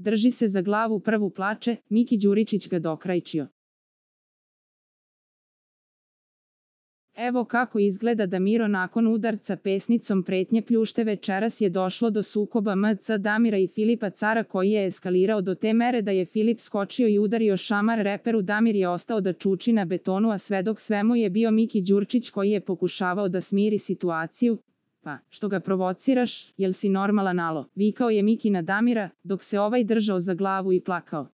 drži se za glavu prvu plače, Miki Đuričić ga dokrajčio. Evo kako izgleda da Miro nakon udarca pesnicom pretnje pljušte večeras je došlo do sukoba MC Damira i Filipa Cara koji je eskalirao do te mere da je Filip skočio i udario šamar reperu. Damir je ostao da čuči na betonu, a svedok svemu je bio Miki Đuričić koji je pokušavao da smiri situaciju. Pa, što ga provociraš, jel si normalan alo? Vikao je Miki na Damira, dok se ovaj držao za glavu i plakao.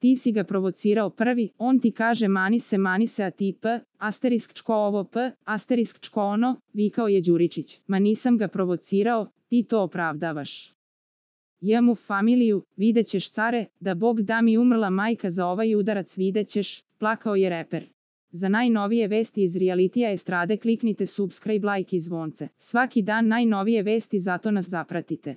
Ti si ga provocirao prvi, on ti kaže mani se, a ti čko ovo čko ono, vikao je Đuričić. Ma nisam ga provocirao, ti to opravdavaš. Jemu familiju, vidjet ćeš care, da Bog da mi umrla majka za ovaj udarac, vidjet ćeš, plakao je reper. Za najnovije vesti iz realitija estrade kliknite subscribe, like i zvonce. Svaki dan najnovije vesti, zato nas zapratite.